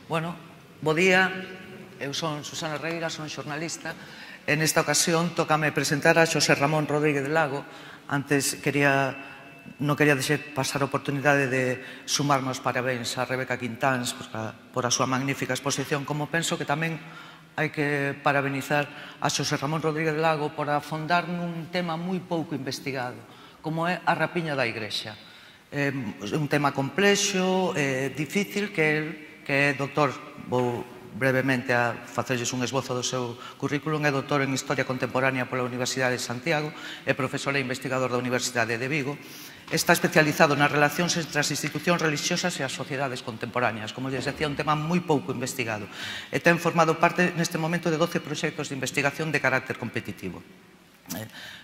Bueno, bo día, eu son Susana Reira, son xornalista e nesta ocasión tócame presentar a Xosé Ramón Rodríguez de Lago. Antes non quería deixar pasar a oportunidade de sumarme aos parabéns a Rebeca Quintáns por a súa magnífica exposición, como penso que tamén hai que parabenizar a Xosé Ramón Rodríguez de Lago por afondar nun tema moi pouco investigado, como é a rapiña da Igrexa. É un tema complexo, difícil, que é doutor, vou brevemente a facerlles un esbozo do seu currículum, é doutor en Historia Contemporánea pola Universidade de Santiago, é profesor e investigador da Universidade de Vigo, está especializado nas relacións entre as institucións religiosas e as sociedades contemporáneas, como lles decía, un tema moi pouco investigado, e ten formado parte neste momento de 12 proxectos de investigación de carácter competitivo.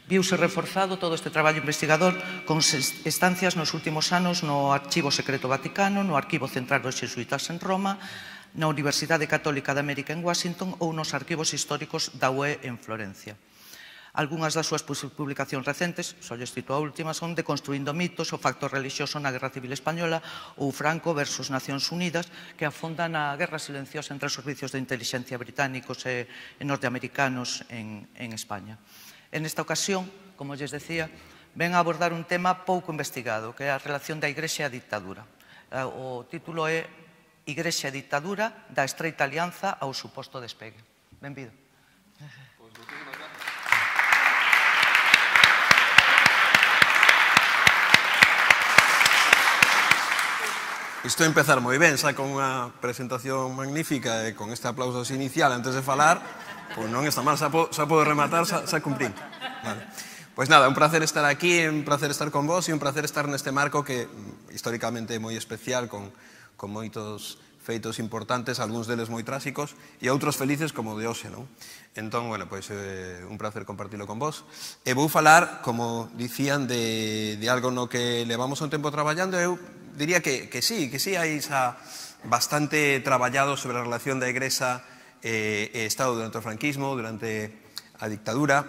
Viuse reforzado todo este traballo investigador con estancias nos últimos anos no Archivo Secreto Vaticano, no Arquivo Central dos Xesuítas en Roma, na Universidade Católica de América en Washington ou nos arquivos históricos da UE en Florencia. Algúnas das súas publicacións recentes, só lles cito a última, son Deconstruindo mitos, o factor religioso na Guerra Civil Española ou Franco versus Nacións Unidas, que afondan na guerra silenciosa entre os servicios de inteligencia británicos e norteamericanos en España. En esta ocasión, como lles decía, ven a abordar un tema pouco investigado, que é a relación da Igrexa e a dictadura. O título é Igrexa e dictadura, da estreita alianza ao suposto despegue. Benvido. Isto empezar moi ben, xa con unha presentación magnífica e con este aplauso inicial antes de falar, pois non está mal, xa podo rematar, xa cumprín. Pois nada, un placer estar aquí, un placer estar con vos e un placer estar neste marco que históricamente é moi especial, con moitos feitos importantes, algúns deles moi tráxicos e outros felices como o de hoxe, non? Entón, bueno, pois un placer compartilo con vos. E vou falar, como dicían, de algo no que levamos un tempo traballando. Eu diría que sí hai xa bastante traballado sobre a relación da Igrexa e Estado durante o franquismo, durante a dictadura.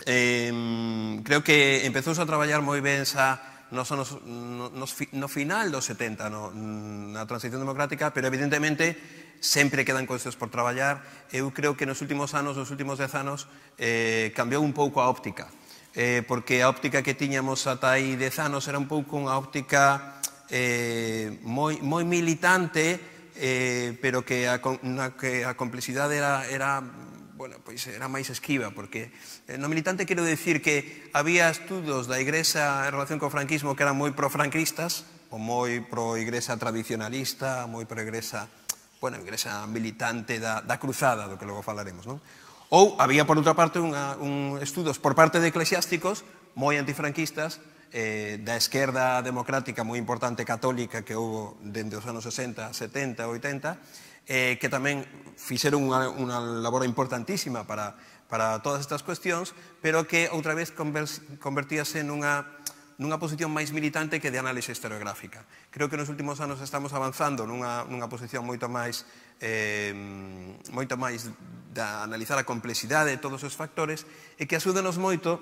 Creo que empezouse a traballar moi ben xa no final dos 70, na transición democrática, pero evidentemente sempre quedan cousas por traballar. Eu creo que nos últimos anos, nos últimos 10 anos, cambiou un pouco a óptica, porque a óptica que tiñamos ata aí 10 anos era un pouco unha óptica moi militante, pero que a complexidade era máis esquiva, porque no militante quero dicir que había estudos da Igrexa en relación co franquismo que eran moi pro-franquistas, ou moi pro-Igrexa tradicionalista, moi pro-Igrexa militante da cruzada, do que logo falaremos, non? Ou había, por outra parte, estudos por parte de eclesiásticos moi antifranquistas, da esquerda democrática moi importante católica que houve dende os anos 60, 70, 80, que tamén fixeron unha labor importantísima para todas estas cuestións, pero que outra vez convertíase nunha posición máis militante que de análise historiográfica. Creo que nos últimos anos estamos avanzando nunha posición moito máis de analizar a complexidade de todos os factores e que axúdanos moito,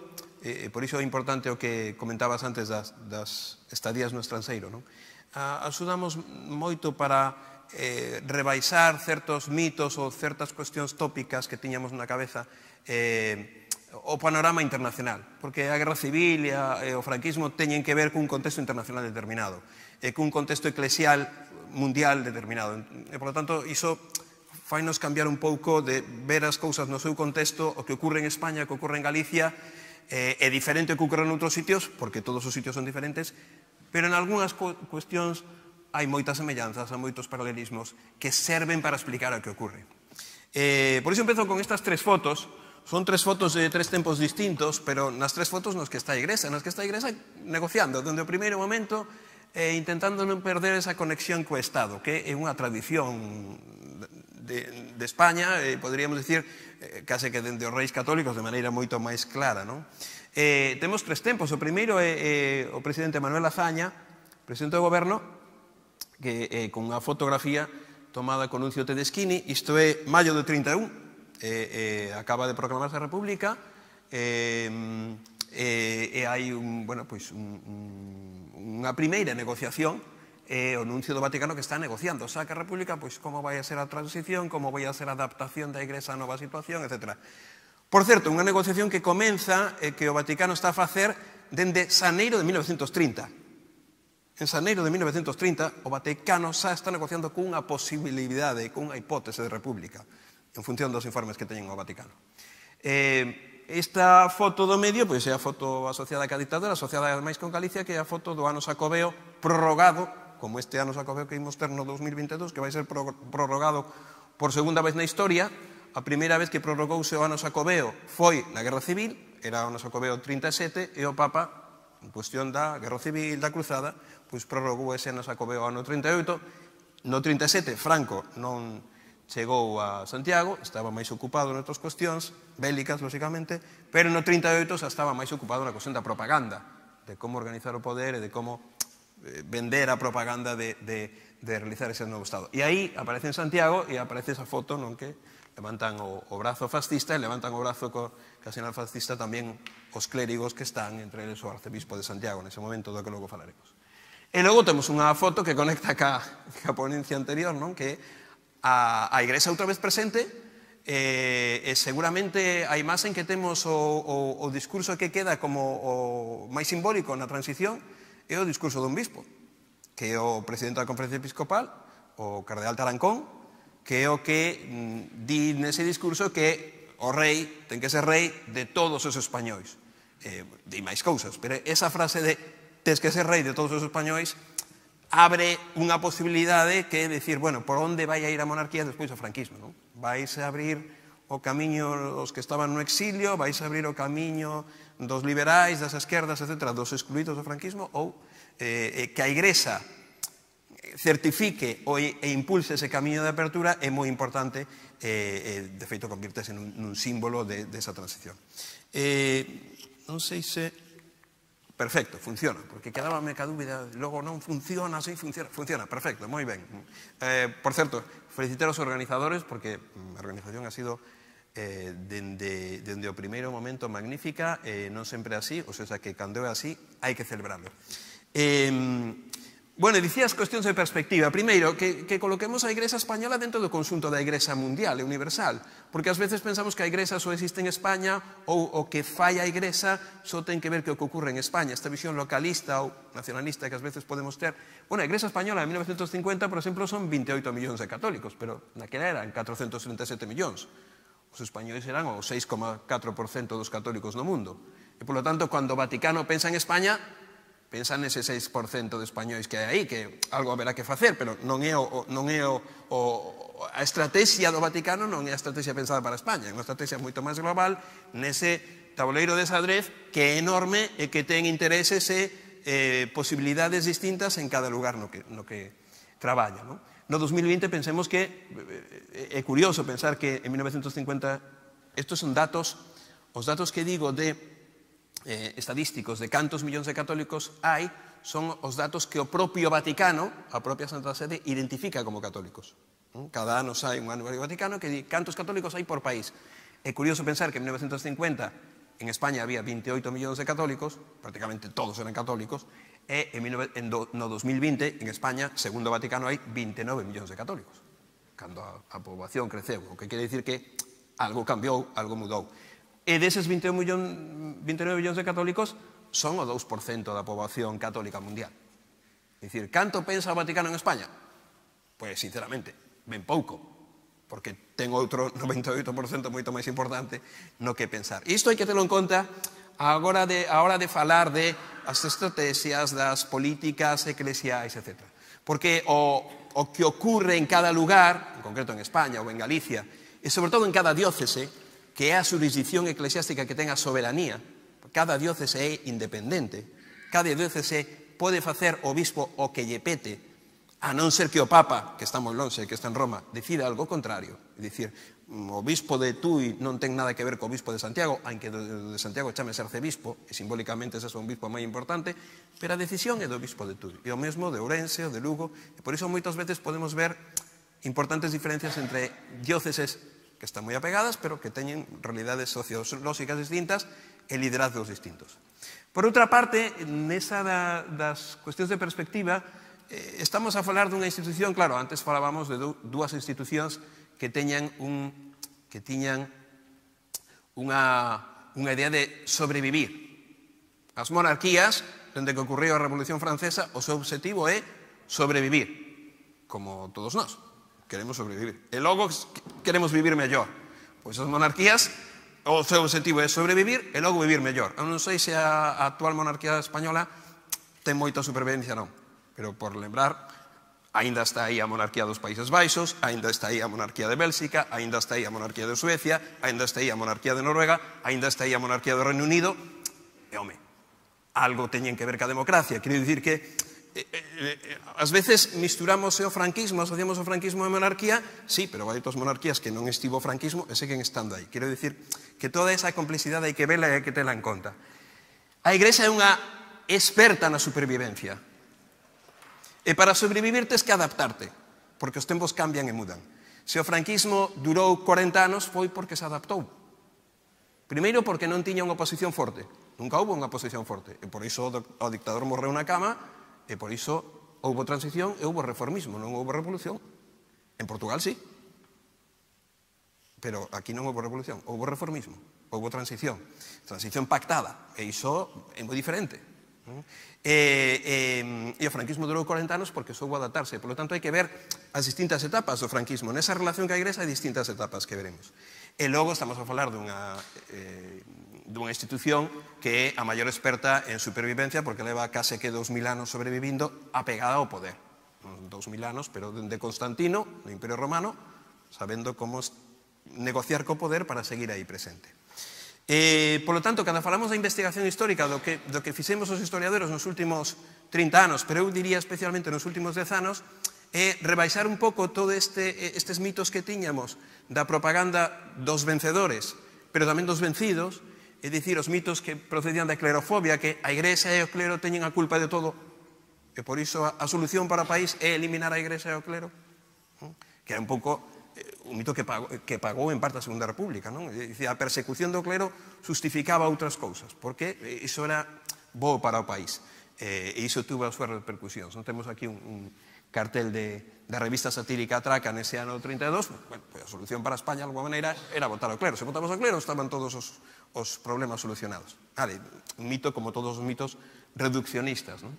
por iso é importante o que comentabas antes das estadías no estranxeiro, non? Axudamos moito para rebaixar certos mitos ou certas cuestións tópicas que tiñamos na cabeza o panorama internacional, porque a guerra civil e o franquismo teñen que ver cun contexto internacional determinado, cun contexto eclesial mundial determinado. E, por lo tanto, iso fainos cambiar un pouco de ver as cousas no seu contexto, o que ocorre en España, o que ocorre en Galicia, é diferente o que ocorre en outros sitios, porque todos os sitios son diferentes, pero en algunhas cuestións hai moitas semellanzas, hai moitos paralelismos que serven para explicar o que ocorre. Por iso empezo con estas tres fotos. Son tres fotos de tres tempos distintos, pero nas tres fotos nas que está a Igrexa, negociando, dende o primeiro momento, intentando non perder esa conexión co Estado, que é unha tradición de España, poderíamos dicir, case que dende os reis católicos de maneira moito máis clara, non? Temos tres tempos. O primeiro é o presidente Manuel Azaña, presidente do goberno, que con unha fotografía tomada con Nuncio Tedeschini. Isto é maio do 31, acaba de proclamarse a República, e hai unha primeira negociación é o nuncio do Vaticano que está negociando. Xa que a República, pois, como vai a ser a transición, como vai a ser a adaptación da Igrexa a nova situación, etc. Por certo, unha negociación que comeza e que o Vaticano está a facer dende xaneiro de 1930. En xaneiro de 1930, o Vaticano xa está negociando cunha posibilidade, cunha hipótese de república, en función dos informes que teñen o Vaticano. Esta foto do medio, pois é a foto asociada á ditadura, asociada máis con Galicia, que é a foto do ano Xacobeo prorrogado, como este ano Xacobeo que imos ter no 2022, que vai ser prorrogado por segunda vez na historia. A primeira vez que prorrogouse o ano Xacobeo foi na Guerra Civil, era o ano Xacobeo 37, e o Papa, en cuestión da Guerra Civil, da Cruzada, pois prorrogou ese ano Xacobeo ano 38. No 37, Franco non chegou a Santiago, estaba máis ocupado noutras cuestións bélicas, lóxicamente, pero no 38 xa estaba máis ocupado na cuestión da propaganda, de como organizar o poder e de como vender a propaganda de realizar ese novo Estado. E aí aparece en Santiago e aparece esa foto non que levantan o brazo fascista e levantan o brazo co sinal fascista tamén os clérigos que están, entre eles o arcebispo de Santiago, nese momento do que logo falaremos. E logo temos unha foto que conecta ca ponencia anterior, non? Que a Igrexa outra vez presente, e seguramente a imaxe en que temos o discurso que queda como o máis simbólico na transición é o discurso dun bispo, que é o presidente da Conferencia Episcopal, o cardeal Tarancón, que é o que di nese discurso que o rei ten que ser rei de todos os españois. Di máis cousas, pero esa frase de tes que ser rei de todos os españois abre unha posibilidade que é dicir, bueno, por onde vai a ir a monarquía despois do franquismo, non? Vais a abrir o camiño dos que estaban no exilio, vais a abrir o camiño dos liberais, das esquerdas, etc., dos excluídos do franquismo, ou que a Igrexa certifique e impulse ese camiño de apertura é moi importante, de feito convirtese nun símbolo desa transición. Non sei se... Perfecto, funciona, porque quedábame ca dúbida, logo non funciona, así funciona, perfecto, moi ben. Por certo, felicitar aos organizadores, porque a organización ha sido dende o primeiro momento magnífica, non sempre así, ou seja, que cando é así, hai que celebrarlo. Bueno, dicías cuestións de perspectiva. Primeiro, que coloquemos a Igrexa española dentro do conxunto da Igrexa mundial e universal, porque ás veces pensamos que a Igrexa só existe en España ou o que fai a Igrexa só ten que ver que o que ocorre en España, esta visión localista ou nacionalista que ás veces podemos ter. Bueno, a Igrexa española en 1950, por exemplo, son 28 millóns de católicos, pero naquela eran 437 millóns. Os españois eran o 6,4% dos católicos no mundo. E, polo tanto, cando o Vaticano pensa en España, pensa nese 6% de españois que hai aí, que algo haberá que facer, pero non é a estrategia do Vaticano non é a estrategia pensada para España, é unha estrategia moito máis global nese tabuleiro de xadrez que é enorme e que ten intereses e posibilidades distintas en cada lugar no que traballa. No 2020 pensemos que é curioso pensar que en 1950 estos son datos, os datos que digo de estadísticos de cantos millóns de católicos hai, son os datos que o propio Vaticano, a propia Santa Sede, identifica como católicos. Cada ano sai un anuario Vaticano que di cantos católicos hai por país. É curioso pensar que en 1950 en España había 28 millóns de católicos, prácticamente todos eran católicos, e no 2020 en España, segundo o Vaticano, hai 29 millóns de católicos, cando a poboación creceu, o que quere dicir que algo cambiou, algo mudou. E deses 29 millóns de católicos son o 2% da poboación católica mundial. É dicir, canto pensa o Vaticano en España? Pois, sinceramente, ben pouco, porque ten outro 98% moito máis importante no que pensar. E isto hai que terlo en conta a hora de falar de as estrategias, das políticas eclesiais, etc. Porque o que ocurre en cada lugar, en concreto en España ou en Galicia, e sobre todo en cada diócese, que é a jurisdicción eclesiástica que ten a soberanía, cada diócese é independente, cada diócese pode facer o bispo o que lle pete, a non ser que o Papa, que está moi lonxe, que está en Roma, decida algo contrario. É dicir, o bispo de Tui non ten nada que ver co bispo de Santiago, aunque de Santiago chame arcebispo, e simbólicamente ese é un bispo moi importante, pero a decisión é do bispo de Tui, e o mesmo de Ourense ou de Lugo, e por iso moitas veces podemos ver importantes diferencias entre dióceses que están moi apegadas, pero que teñen realidades sociolóxicas distintas e liderazgos distintos. Por outra parte, nesa das cuestións de perspectiva, estamos a falar dunha institución, claro, antes falábamos de dúas institucións que tiñan unha idea de sobrevivir. As monarquías, dende que ocurriu a Revolución Francesa, o seu objetivo é sobrevivir, como todos nós, queremos sobrevivir. E logo queremos vivir mellor. Pois as monarquías, o seu objetivo é sobrevivir e logo vivir mellor. Eu non sei se a actual monarquía española ten moita supervivencia, non. Pero por lembrar, aínda está aí a monarquía dos Países Baixos, aínda está aí a monarquía de Bélxica, aínda está aí a monarquía de Suecia, aínda está aí a monarquía de Noruega, aínda está aí a monarquía do Reino Unido. E, home, algo teñen que ver ca democracia. Quero dicir que ás veces misturamos o franquismo, asociamos o franquismo a monarquía, sí, pero hai outras monarquías que non estivo o franquismo e seguen estando aí. Quero dicir que toda esa complexidade hai que vela e hai que tela en conta. A Igrexa é unha experta na supervivencia. E para sobrevivir tes que adaptarte, porque os tempos cambian e mudan. Se o franquismo durou 40 anos foi porque se adaptou. Primeiro porque non tiña unha oposición forte. Nunca houve unha oposición forte. E por iso o dictador morreu na cama, e por iso houve transición e houve reformismo, non houve revolución. En Portugal sí. Pero aquí non houve revolución, houve reformismo, houve transición. Transición pactada, e iso é moi diferente. E o franquismo durou 40 anos porque soubo adaptarse. Por lo tanto, hai que ver as distintas etapas do franquismo. Nesa relación ca Igrexa hai distintas etapas que veremos. E logo estamos a falar dunha institución que é a maior experta en supervivencia porque leva case que 2000 anos sobrevivindo apegada ao poder. 2000 anos, pero de Constantino, no Imperio Romano, sabendo como negociar co poder para seguir aí presente. Por lo tanto, cando falamos da investigación histórica do que fixemos os historiadores nos últimos 30 anos, pero eu diría especialmente nos últimos 10 anos, é rebaixar un pouco todos estes mitos que tiñamos da propaganda dos vencedores, pero tamén dos vencidos, é dicir, os mitos que procedían da clerofobia, que a Igrexa e o clero teñen a culpa de todo, e por iso a solución para o país é eliminar a Igrexa e o clero, que era un pouco un mito que pagou en parte a Segunda República, non? A persecución do clero justificaba outras cousas, porque iso era bo para o país, e iso tuvo as súas repercusións. Non temos aquí un cartel da revista satírica Atraca nese ano 32, bueno, a solución para España, de alguma maneira, era votar ao clero. Se votamos ao clero, estaban todos os problemas solucionados. Vale, un mito como todos os mitos reduccionistas, non?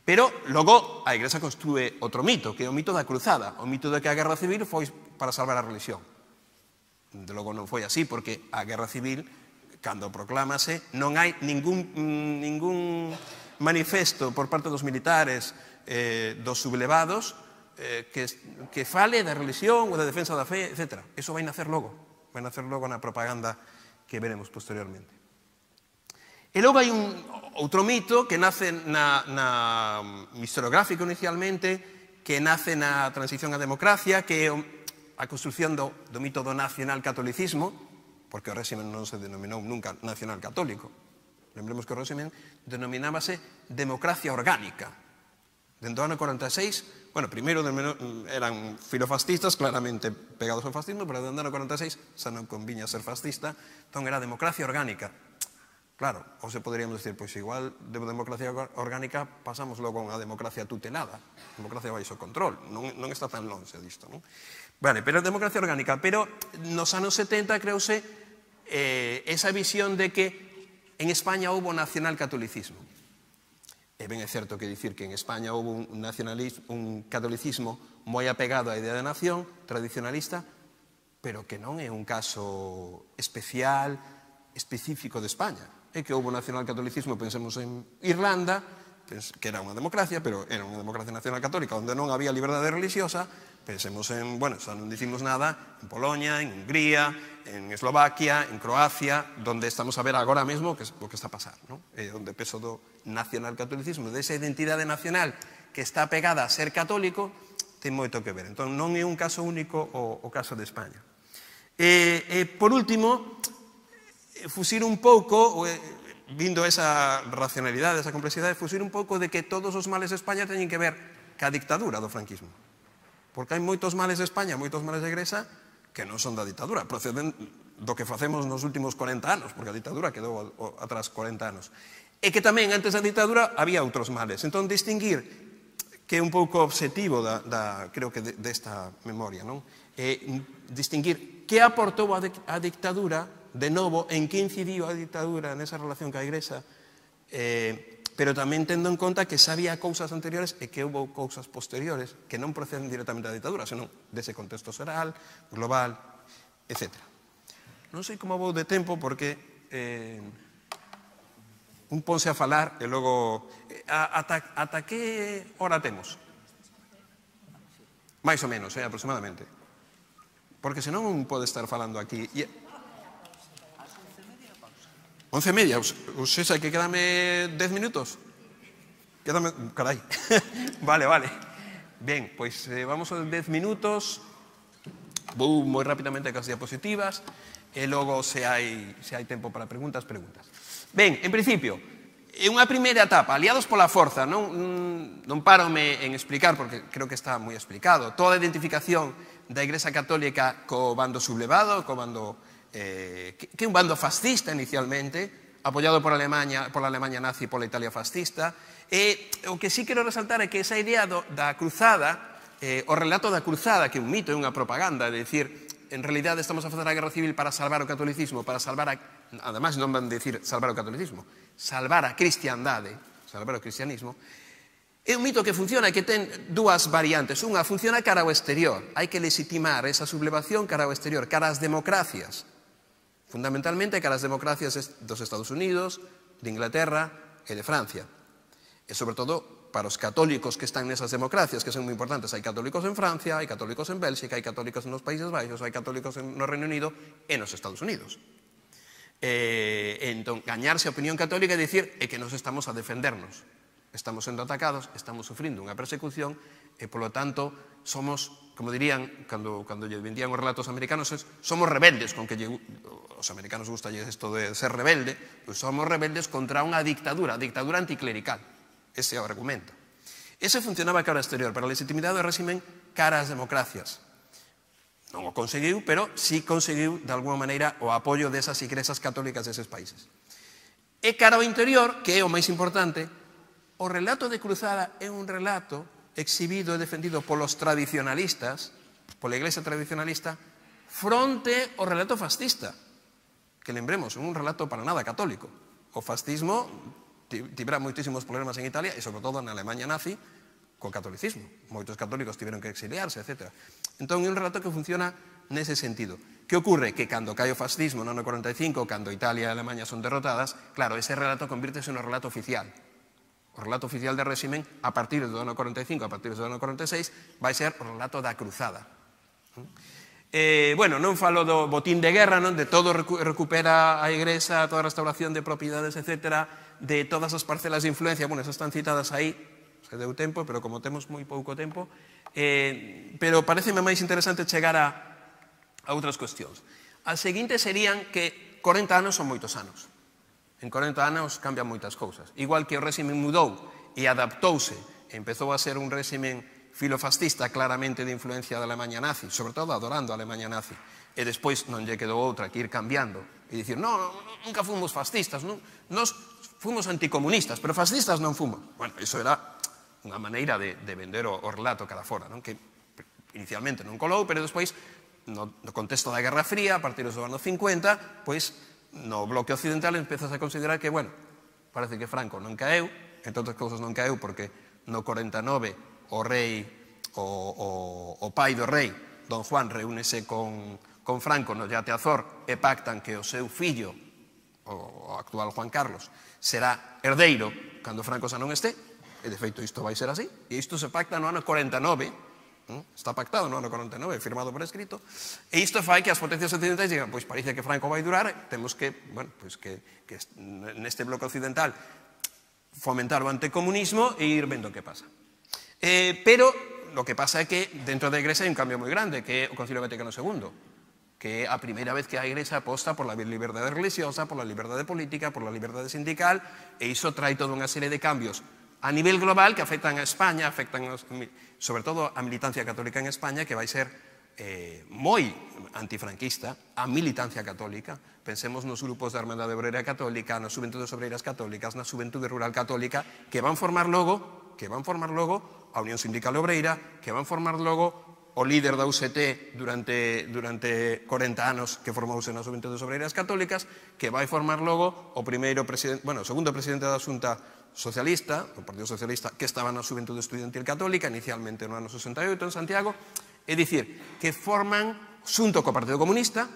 Pero logo a Igrexa construe outro mito, que é o mito da cruzada, o mito de que a guerra civil foi para salvar a religión. De logo non foi así, porque a guerra civil, cando proclámase, non hai ningún manifesto por parte dos militares, dos sublevados, que fale da religión ou da defensa da fe, etc. Eso vai nacer logo na propaganda que veremos posteriormente. E logo hai outro mito que nace na historiográfico inicialmente, que nace na transición á democracia, que é a construción do mito do nacionalcatolicismo, porque o réximen non se denominou nunca nacional católico. Lembremos que o réximen denominábase democracia orgánica. Dentro do ano 46, bueno, primeiro eran filofascistas, claramente pegados ao fascismo, pero dentro do ano 46 xa non conviña ser fascista, entón era democracia orgánica. Claro, ou se poderíamos decir, pois igual de democracia orgánica pasamos logo a unha democracia tutelada, democracia baixo control, non está tan longe disto, non? Vale, pero democracia orgánica, pero nos anos 70 creouse esa visión de que en España houve nacionalcatolicismo. E ben é certo que dicir que en España houve un catolicismo moi apegado á idea de nación, tradicionalista, pero que non é un caso especial, específico de España. É que houve nacionalcatolicismo, pensemos en Irlanda, que era unha democracia, pero era unha democracia nacional católica, onde non había liberdade religiosa. Pensemos en, bueno, xa non dicimos nada, en Polonia, en Hungría, en Eslovaquia, en Croacia, donde estamos a ver agora mesmo o que está a pasar, non? Onde o peso do nacionalcatolicismo, desa identidade nacional que está pegada a ser católico, ten moito que ver. Entón, non é un caso único o caso de España. Por último, fusir un pouco, vindo esa racionalidade, esa complexidade, fusir un pouco de que todos os males de España teñen que ver ca dictadura do franquismo. Porque hai moitos males de España, moitos males de Grecia, que non son da dictadura, proceden do que facemos nos últimos 40 anos, porque a dictadura quedou atrás 40 anos. E que tamén, antes da dictadura, había outros males. Entón, distinguir que é un pouco obxectivo creo que desta memoria, non? Distinguir que aportou a dictadura, de novo, en que incidiu a dictadura nesa relación ca Igrexa, pero tamén tendo en conta que xa había cousas anteriores e que houve cousas posteriores que non proceden directamente da dictadura, senón dese contexto xeral, global, etc. Non sei como vou de tempo porque un ponse a falar e logo... Ata que hora temos? Mais ou menos, aproximadamente. Porque senón un pode estar falando aquí... 11:30, ou seja, que quedame 10 minutos? Quedame... Carai. Vale. Ben, pois vamos aos 10 minutos. Vou moi rapidamente cas diapositivas e logo se hai tempo para preguntas. Ben, en principio, é unha primeira etapa, aliados pola forza, non parome en explicar, porque creo que está moi explicado, toda a identificación da Igrexa Católica co bando sublevado, co bando que é un bando fascista inicialmente, apoiado por a Alemanha nazi e pola Italia fascista, e o que sí quero resaltar é que esa idea da cruzada, o relato da cruzada, que é un mito, é unha propaganda, de dicir, en realidade estamos a facer a guerra civil para salvar o catolicismo, ademais non van dicir salvar o catolicismo, salvar a cristiandade, salvar o cristianismo, é un mito que funciona e que ten dúas variantes. Unha, funciona cara ao exterior. Hai que legitimar esa sublevación cara ao exterior, cara ás democracias. Fundamentalmente cara ás democracias dos Estados Unidos, de Inglaterra e de Francia. E, sobre todo, para os católicos que están nesas democracias, que son moi importantes. Hai católicos en Francia, hai católicos en Bélxica, hai católicos nos Países Baixos, hai católicos no Reino Unido e nos Estados Unidos. Entón, gañarse a opinión católica é dicir que nos estamos a defendernos. Estamos sendo atacados, estamos sufrindo unha persecución e, polo tanto, somos, como dirían, cando lle vendían os relatos americanos, somos rebeldes, con que os americanos gusta isto de ser rebelde, pois somos rebeldes contra unha dictadura anticlerical. Ese é o argumento. Ese funcionaba cara ao exterior, pero a legitimidade do réximen cara ás democracias. Non o conseguiu, pero sí conseguiu, de alguma maneira, o apoio desas igrexas católicas deses países. E cara ao interior, que é o máis importante, o relato de cruzada é un relato exhibido e defendido polos tradicionalistas, pola Iglesia tradicionalista, fronte ao relato fascista, que lembremos, é un relato para nada católico. O fascismo tivera moitísimos problemas en Italia e, sobre todo, na Alemanha nazi, co catolicismo. Moitos católicos tiveron que exiliarse, etc. Entón, é un relato que funciona nese sentido. Que ocorre? Que cando cae o fascismo no ano 45, cando Italia e Alemanha son derrotadas, claro, ese relato convírtese no relato oficial. O relato oficial de réximen, a partir do ano 45, a partir do ano 46, vai ser o relato da cruzada. Bueno, non falo do botín de guerra, non? De todo recupera a Igrexa, toda a restauración de propiedades, etc., de todas as parcelas de influencia, bueno, esas están citadas aí, se deu tempo, pero como temos moi pouco tempo, pero pareceme máis interesante chegar a outras cuestións. As seguintes serían que 40 anos son moitos anos. En 40 anos cambian moitas cousas. Igual que o réximen mudou e adaptouse, empezou a ser un réximen filofascista claramente de influencia da Alemanha nazi, sobre todo adorando a Alemanha nazi, e despois non lle quedou outra que ir cambiando e dicir, non, nunca fomos fascistas, nos fomos anticomunistas, pero fascistas non fomos. Bueno, iso era unha maneira de vender o relato cara fora, que inicialmente non colou, pero despois, no contexto da Guerra Fría, a partir dos anos 50, pois, no bloque occidental empezas a considerar que, bueno, parece que Franco non caeu, entre outras cousas non caeu porque no 49 o rei, o pai do rei, Don Juan, reúnese con Franco no Yate Azor e pactan que o seu fillo, o actual Juan Carlos, será herdeiro cando Franco xa non este, e de feito isto vai ser así, e isto se pacta no ano 49, está pactado no ano 49, firmado por escrito, e isto fai que as potencias occidentais digan, pois parece que Franco vai durar, temos que, bueno, pois que neste bloque occidental fomentar o anticomunismo e ir vendo que pasa. Pero o que pasa é que dentro da Igrexa hai un cambio moi grande, que é o Concilio Vaticano II, que é a primeira vez que a Igrexa aposta por la liberdade religiosa, por la liberdade política, por la liberdade sindical, e iso trae toda unha serie de cambios a nivel global que afectan a España, afectan sobre todo a militancia católica en España, que vai ser moi antifranquista, a militancia católica. Pensemos nos grupos da Hermandade Obrera Católica, nas Xuventudes Obreiras Católicas, na Xuventude Rural Católica, que van formar logo a Unión Sindical Obreira, que van formar logo o líder da UCT durante 40 anos que formouse nas Xuventudes Obreiras Católicas, que vai formar logo o segundo presidente da Xunta Socialista, o Partido Socialista, que estaba na Xuventude Estudiantil Católica, inicialmente no ano 68 en Santiago, é dicir, que forman, xunto co Partido Comunista,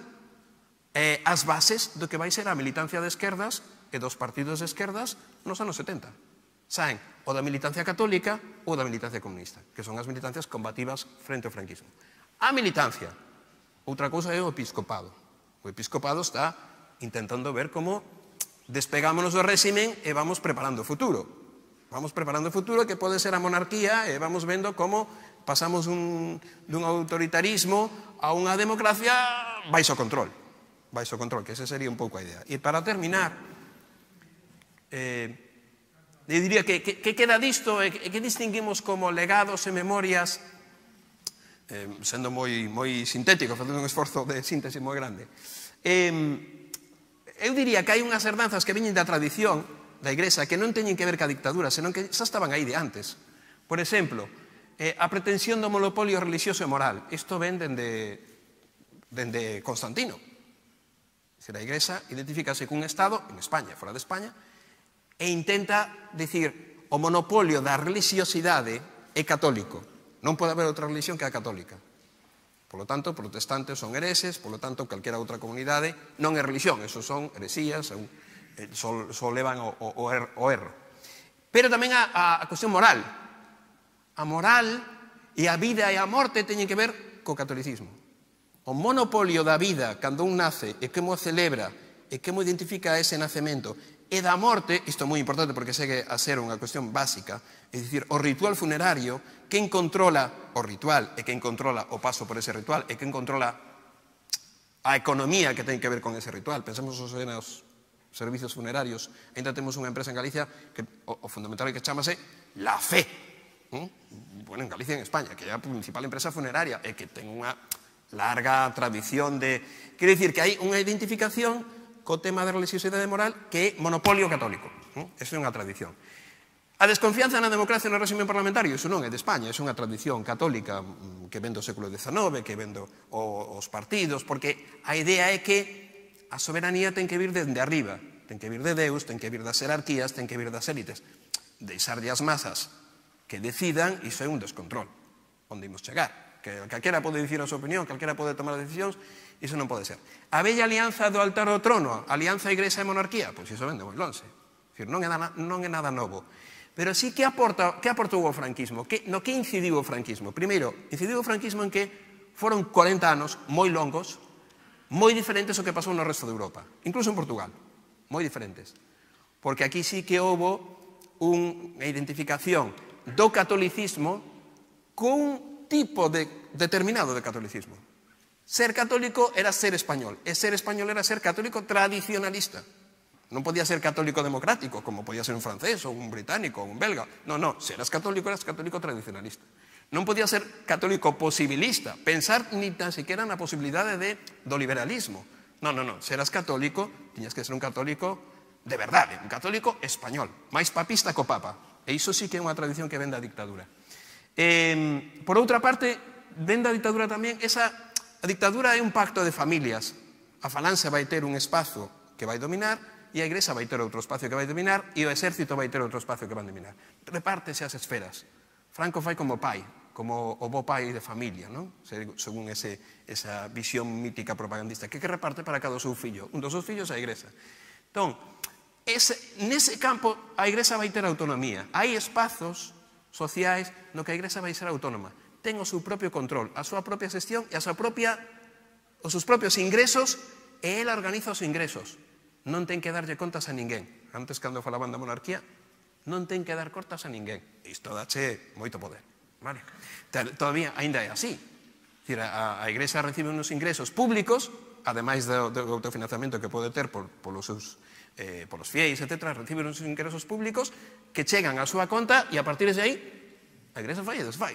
as bases do que vai ser a militancia de esquerdas e dos partidos de esquerdas nos anos 70. Saen o da militancia católica ou da militancia comunista, que son as militancias combativas frente ao franquismo. A militancia, outra cousa é o episcopado. O episcopado está intentando ver como despegámonos do réximen e vamos preparando o futuro. Vamos preparando o futuro que pode ser a monarquía e vamos vendo como pasamos dun autoritarismo a unha democracia baixo control, que esa sería un pouco a idea. E para terminar, eu diría que queda disto e que distinguimos como legados e memorias, sendo moi sintético, facendo un esforzo de síntese moi grande. Eu diría que hai unhas herdanzas que veñen da tradición da Igrexa que non teñen que ver ca dictadura, senón que xa estaban aí de antes. Por exemplo, a pretensión do monopolio religioso e moral. Isto ven dende Constantino. A Igrexa identifícase cun Estado, en España, fora de España, e intenta dicir o monopolio da religiosidade é católico. Non pode haber outra religión que a católica. Por lo tanto, protestantes son hereses, por lo tanto, calquera outra comunidade non é religión, esos son heresías, só levan o erro. Pero tamén a cuestión moral. A moral e a vida e a morte teñen que ver co catolicismo. O monopolio da vida, cando un nace, e como celebra, e como identifica ese nacemento, e da morte, isto é moi importante porque segue a ser unha cuestión básica, é dicir, o ritual funerario, quen controla o ritual e quen controla o paso por ese ritual e quen controla a economía que ten que ver con ese ritual. Pensemos nos servicios funerarios. Ainda temos unha empresa en Galicia que o fundamental é que chamase La Fe. Bueno, en Galicia e en España, que é a principal empresa funeraria e que ten unha larga tradición de... Quero dicir que hai unha identificación co tema da religiosidade moral que é monopolio católico. Eso é unha tradición. A desconfianza na democracia e no régimen parlamentario, iso non é de España, é unha tradición católica que ven do século XIX, que ven os partidos, porque a idea é que a soberanía ten que vir dende arriba, ten que vir de Deus, ten que vir das jerarquías, ten que vir das élites. Deixarlle as masas que decidan, iso é un descontrol, onde imos chegar. Que calquera pode dicir a súa opinión, calquera pode tomar decisións, iso non pode ser. A bella alianza do altar ao trono, alianza Igrexa e monarquía, pois iso vende moi lonxe. Non é nada novo. Pero sí que aportou o franquismo, no que incidiu o franquismo. Primeiro, incidiu o franquismo en que foron 40 anos moi longos, moi diferentes ao que pasou no resto de Europa, incluso en Portugal, moi diferentes. Porque aquí sí que houve unha identificación do catolicismo cun tipo determinado de catolicismo. Ser católico era ser español, e ser español era ser católico tradicionalista. Non podía ser católico democrático, como podía ser un francés, ou un británico, ou un belga. Non, se eras católico tradicionalista. Non podía ser católico posibilista, pensar ni tan siquiera na posibilidade do liberalismo. Non, se eras católico, tiñas que ser un católico de verdade, un católico español, máis papista co papa. E iso sí que é unha tradición que ven da dictadura. Por outra parte, ven da dictadura tamén, a dictadura é un pacto de familias. A falanxe vai ter un espazo que vai dominar, e a Igrexa vai ter outro espacio que vai dominar, e o exército vai ter outro espacio que vai dominar. Repártese as esferas. Franco fai como pai, como o bo pai de familia, non? Según esa visión mítica propagandista, que reparte para cada seu fillo. Un dos seus fillos é a Igrexa. Entón, nese campo, a Igrexa vai ter autonomía. Hai espazos sociais no que a Igrexa vai ser autónoma. Ten o seu propio control, a súa propia xestión e os seus propios ingresos, e ela organiza os ingresos. Non ten que darlle contas a ninguén. Antes, cando falaban da monarquía, non ten que dar contas a ninguén. Isto dache moito poder. Todavía ainda é así. A Igrexa recibe uns ingresos públicos, ademais do autofinanciamento que pode ter polos fieis, etc., recibe uns ingresos públicos que chegan á súa conta e a partir de aí a Igrexa fai e desfai.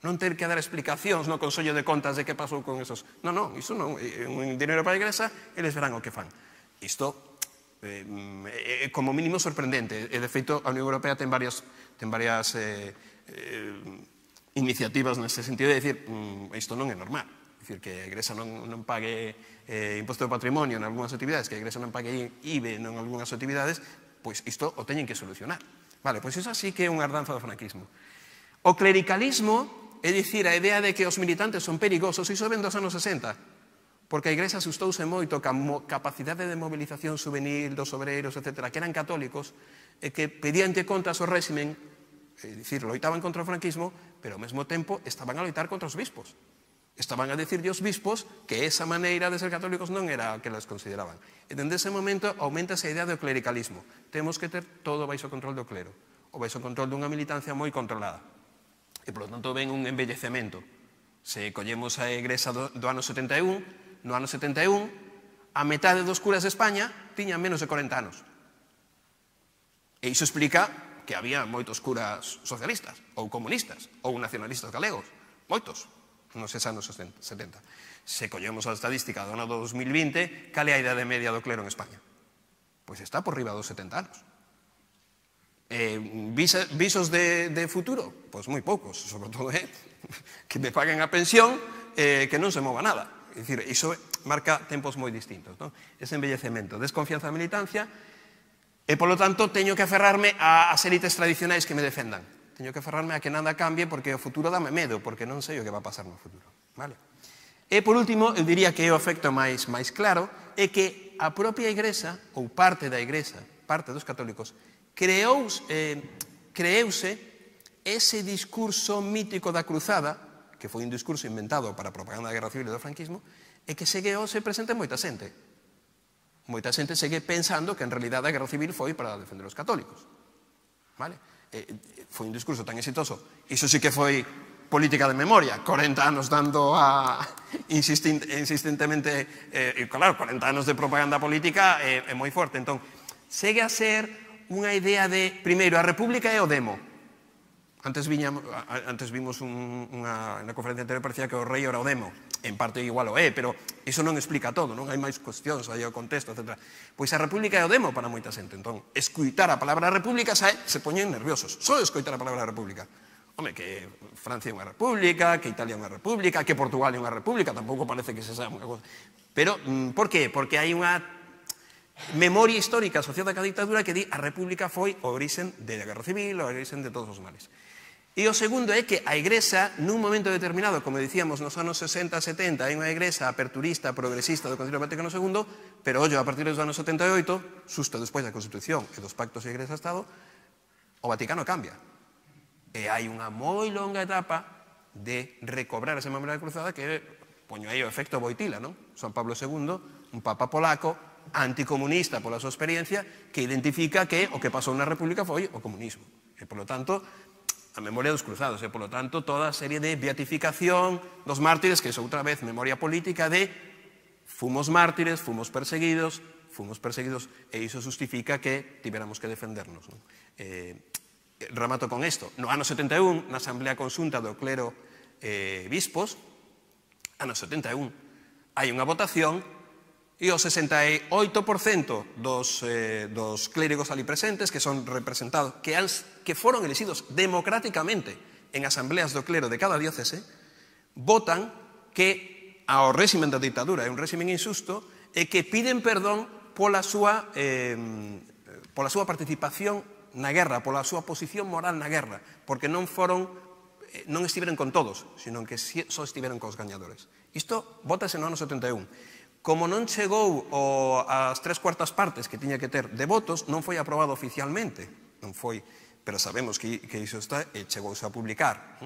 Non ter que dar explicacións no Consello de Contas de que pasou con esos... Non, iso non. É un dinero para a Igrexa, eles verán o que fan. Isto é como mínimo sorprendente. E, de feito, a Unión Europea ten varias iniciativas neste sentido de dicir isto non é normal. Dicir, que a Igrexa non pague imposto de patrimonio en algunhas actividades, que a Igrexa non pague IVE en algunhas actividades, pois isto o teñen que solucionar. Vale, pois iso sí que é unha herdanza do franquismo. O clericalismo, é dicir, a idea de que os militantes son perigosos, iso ven dos anos 60, porque a Igrexa asustouse moito ca capacidade de movilización juvenil dos obreiros, etc., que eran católicos, e que pedían contas ao réximen, é dicir, loitaban contra o franquismo, pero ao mesmo tempo estaban a loitar contra os bispos. Estaban a decirlle aos bispos que esa maneira de ser católicos non era a que les consideraban. E dende ese momento aumenta esa idea do clericalismo. Temos que ter todo baixo control do clero, ou baixo control dunha militancia moi controlada. E, por lo tanto, ven un embellecemento. Se collemos a Igrexa do ano 71, no ano 71, a metade dos curas de España tiñan menos de 40 anos. E iso explica que había moitos curas socialistas, ou comunistas, ou nacionalistas galegos. Moitos, nos anos 70. Se collemos a estadística do ano 2020, cal é a idade media do clero en España? Pois está por riba dos 70 anos. Visos de futuro? Pois moi poucos, sobre todo que me paguen a pensión que non se mova nada. É dicir, iso marca tempos moi distintos, non? Ese embellecemento, desconfianza da militancia, e, polo tanto, teño que aferrarme ás élites tradicionais que me defendan. Teño que aferrarme a que nada cambie, porque o futuro dame medo, porque non sei o que va a pasar no futuro. Vale? E, por último, eu diría que o efecto máis claro é que a propia Igrexa, ou parte da Igrexa, parte dos católicos, creouse ese discurso mítico da cruzada, que foi un discurso inventado para a propaganda da Guerra Civil e do franquismo, e que segue hoxe presente en moita xente. Moita xente segue pensando que en realidad a Guerra Civil foi para defender os católicos. Vale? Foi un discurso tan exitoso. Iso sí que foi política de memoria. 40 anos dando insistentemente, claro, 40 anos de propaganda política é moi forte. Entón, segue a ser unha idea de, primeiro, a república é o demo. Antes vimos na conferencia anterior, parecía que o rei era o demo. En parte igual o é, pero iso non explica todo, non? Hai máis cuestións, hai o contexto, etc. Pois a república é o demo para moita xente. Entón, escuitar a palabra república se poñen nerviosos. Só escoitar a palabra república. Home, que Francia é unha república, que Italia é unha república, que Portugal é unha república, tampouco parece que se sabe unha cosa. Pero, por qué? Porque hai unha memoria histórica asociada ca ditadura que di a república foi o orixen da Guerra Civil, o orixen de todos os males. E o segundo é que a Igrexa, nun momento determinado, como dicíamos, nos anos 60 e 70, hai unha Igrexa aperturista, progresista do Concilio Vaticano II, pero, ollo, a partir dos anos 78, xusto despois da Constitución e dos pactos de Igrexa-Estado, o Vaticano cambia. E hai unha moi longa etapa de recobrar esa memoria da cruzada que, poño aí o efecto Wojtyla, non? San Pablo II, un papa polaco, anticomunista pola súa experiencia, que identifica que o que pasou na República foi o comunismo. E, polo tanto, a memoria dos cruzados, e, polo tanto, toda a serie de beatificación dos mártires, que é outra vez memoria política de fomos mártires, fomos perseguidos, e iso justifica que tiveramos que defendernos. Non? Remato con isto. No ano 71, na Asamblea Conxunta do Clero Bispos, ano 71, hai unha votación e o 68% dos clérigos ali presentes, que son representados, que foron elegidos democráticamente en asambleas do clero de cada diócese, votan que ao réximen da ditadura é un réximen injusto e que piden perdón pola súa participación na guerra, pola súa posición moral na guerra, porque non estiveron con todos, sino que só estiveron cos gañadores. Isto votase no ano 71. Como non chegou ás 3/4 partes que tiña que ter de votos, non foi aprobado oficialmente. Non foi, pero sabemos que iso está e chegouse a publicar.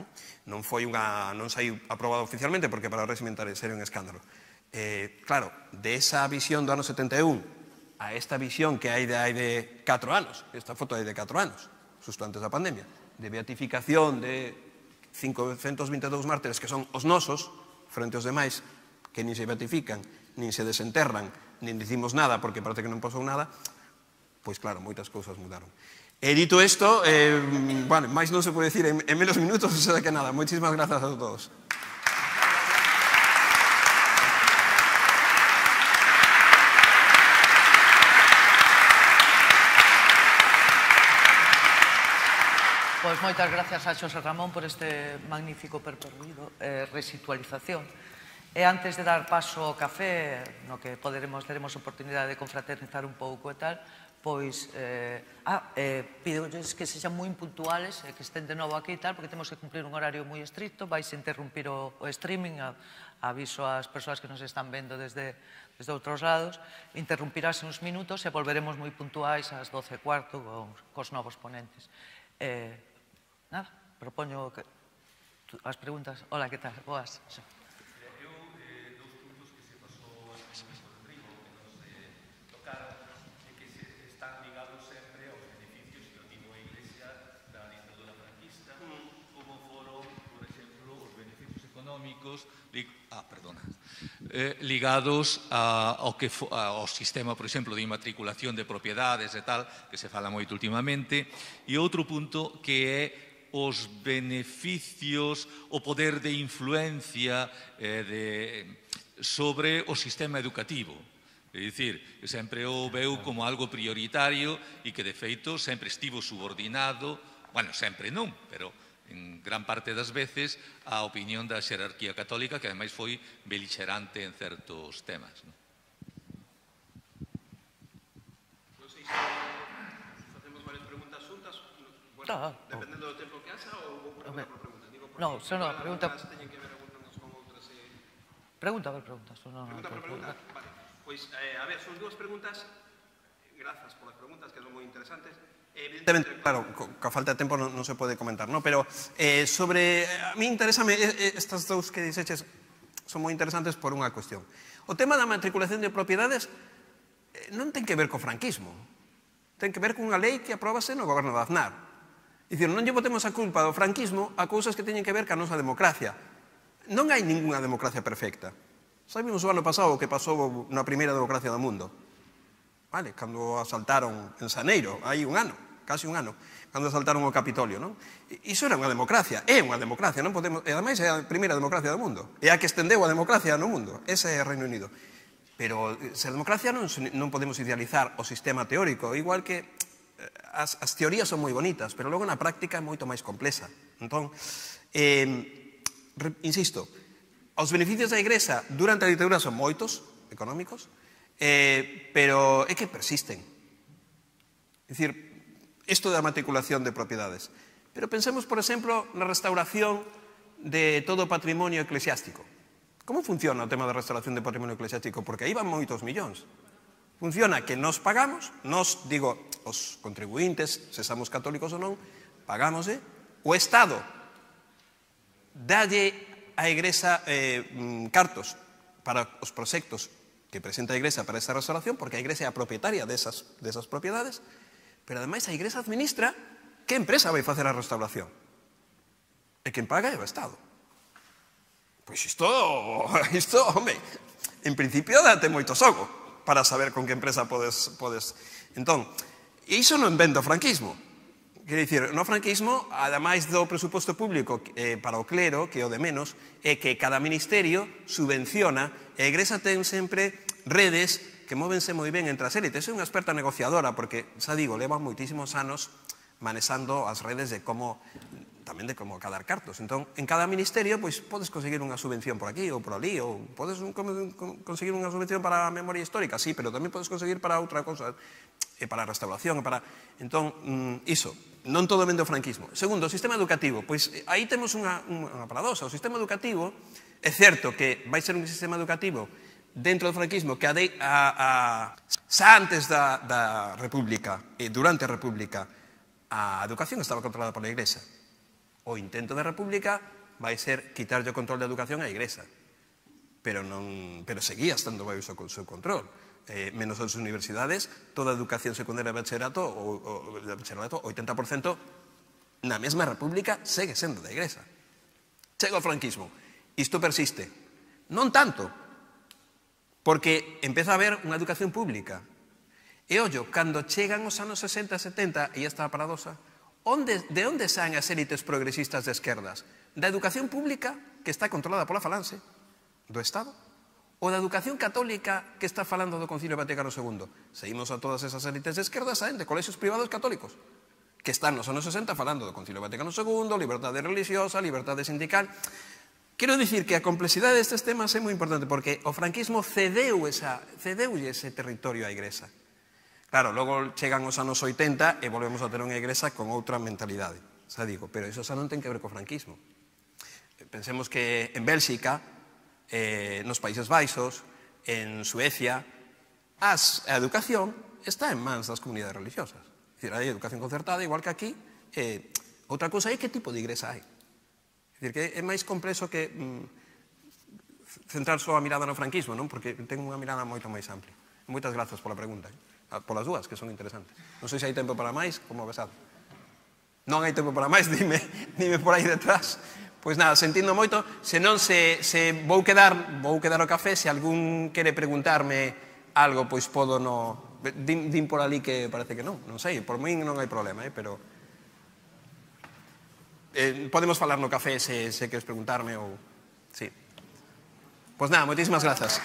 Non saiu aprobado oficialmente porque para o régimen sería un escándalo. Claro, de esa visión do ano 71 a esta visión que hai de 4 anos, esta foto hai de 4 anos, justo antes da pandemia, de beatificación de 522 mártires que son os nosos, frente aos demais, que nin se beatifican, nin se desenterran, nin dicimos nada porque parece que non pasou nada, pois claro, moitas cousas mudaron. E dito isto, máis non se pode dicir en menos minutos, o sea que nada, moitísimas grazas a todos. Pois moitas gracias a Xosé Ramón por este magnífico percorrido, resitualización. E antes de dar paso ao café, no que teremos oportunidade de confraternizar un pouco e tal, pois, pídolles que sexan moi impuntuales e que estén de novo aquí e tal, porque temos que cumplir un horario moi estricto, vais interrumpir o streaming, aviso ás persoas que nos están vendo desde outros lados, interrumpirase uns minutos e volveremos moi puntuais ás 12:15 cos novos ponentes. Nada, propoño as preguntas. Hola, que tal? Boas. ligados ao sistema, por exemplo, de inmatriculación de propiedades e tal, que se fala moito últimamente, e outro punto que é os beneficios, o poder de influencia sobre o sistema educativo. É dicir, que sempre o veu como algo prioritario e que, de feito, sempre estivo subordinado, bueno, sempre non, pero en gran parte das veces, a opinión da xerarquía católica, que ademais foi beligerante en certos temas. Non sei se facemos varias preguntas xuntas, dependendo do tempo que haxa, ou pregunta por pregunta. Non, só non, pregunta... Teñen que ver algunhas con outras... Pregunta por pregunta. Pregunta por pregunta? Vale. Pois, a ver, son dúas preguntas. Grazas por as preguntas, que son moi interesantes. Evidentemente, claro, coa falta de tempo non se pode comentar, ¿no? Pero sobre... A mí interésame, estas dous que dixeches son moi interesantes por unha cuestión. O tema da matriculación de propiedades non ten que ver co franquismo. Ten que ver cunha lei que aprobase no goberno de Aznar. Dicir, non lle botemos a culpa do franquismo a cousas que teñen que ver ca nosa democracia. Non hai ninguna democracia perfecta. Sabemos o ano pasado o que pasou na primeira democracia do mundo. Vale, cando asaltaron en Xaneiro, hai un ano, casi un ano, cando asaltaron o Capitolio, non? Iso era unha democracia, é unha democracia, non podemos, e ademais é a primeira democracia do mundo, é a que estendeu a democracia no mundo, ese é o Reino Unido. Pero se a democracia non podemos idealizar o sistema teórico, igual que as teorías son moi bonitas, pero logo na práctica é moito máis complexa. Entón, insisto, os beneficios da Igrexa durante a ditadura son moitos, económicos, pero é que persisten. É dicir, isto da matriculación de propiedades. Pero pensemos, por exemplo, na restauración de todo o patrimonio eclesiástico. Como funciona o tema da restauración de patrimonio eclesiástico? Porque aí van moitos millóns. Funciona que nos pagamos, nos, digo, os contribuintes, se somos católicos ou non, pagamos, o Estado dalle a Igrexa cartos para os proxectos que presenta a Igrexa para esta restauración, porque a Igrexa é a propietaria desas propiedades, pero ademais a Igrexa administra que empresa vai facer a restauración. E quen paga é o Estado. Pois isto, home, en principio date moito xogo para saber con que empresa podes... Entón, iso non vende o franquismo. Quer dicir, no franquismo, ademais do presuposto público para o clero, que é o de menos, é que cada ministerio subvenciona, e a Igrexa ten sempre redes que móvense moi ben entre as élites. É unha experta negociadora, porque, xa digo, leva moitísimos anos manexando as redes de como, tamén de como cadar cartos. Entón, en cada ministerio, pois, podes conseguir unha subvención por aquí ou por ali, ou podes conseguir unha subvención para a memoria histórica, sí, pero tamén podes conseguir para outra cosa, para a restauración, para... Entón, iso, non todo vende o franquismo. Segundo, o sistema educativo. Pois aí temos unha paradoxa. O sistema educativo, é certo que vai ser un sistema educativo dentro do franquismo que xa antes da República e durante a República a educación estaba controlada pola Igrexa. O intento da República vai ser quitarlle o control da educación á Igrexa. Pero seguía estando baixo o seu control. Menos as universidades, toda a educación secundaria de bachillerato, o 80%, na mesma República, segue sendo da Igrexa. Chega o franquismo. Isto persiste. Non tanto, porque empeza a haber unha educación pública. E, ollo, cando chegan os anos 60 e 70, e esta paradoxa, de onde saen as élites progresistas de esquerdas? Da educación pública, que está controlada pola Falanxe, do Estado, ou da educación católica que está falando do Concilio Vaticano II. Seguimos a todas esas élites de esquerda, saen de colexios privados católicos, que están nos anos 60 falando do Concilio Vaticano II, liberdade religiosa, liberdade sindical. Quero dicir que a complexidade destes temas é moi importante porque o franquismo cedeulle ese territorio á Igrexa. Claro, logo chegan os anos 80 e volvemos a ter unha Igrexa con outra mentalidade, xa digo, pero iso xa non ten que ver co franquismo. Pensemos que en Bélxica, nos Países Baixos, en Suecia, a educación está en mans das comunidades religiosas. É dicir, hai educación concertada, igual que aquí. Outra cousa é que tipo de igrexa hai. É dicir, que é máis complexo que centrar só a mirada no franquismo, non? Porque ten unha mirada moito máis amplia. Moitas grazas pola pregunta, polas dúas, que son interesantes. Non sei se hai tempo para máis, como besado. Non hai tempo para máis, dime por aí detrás. Pois nada, sentindo moito, se non se vou quedar o café, se algún quere preguntarme algo, pois podo no... Din por ali que parece que non sei, por min non hai problema, pero podemos falar no café se queres preguntarme ou... Sí. Pois nada, moitísimas grazas.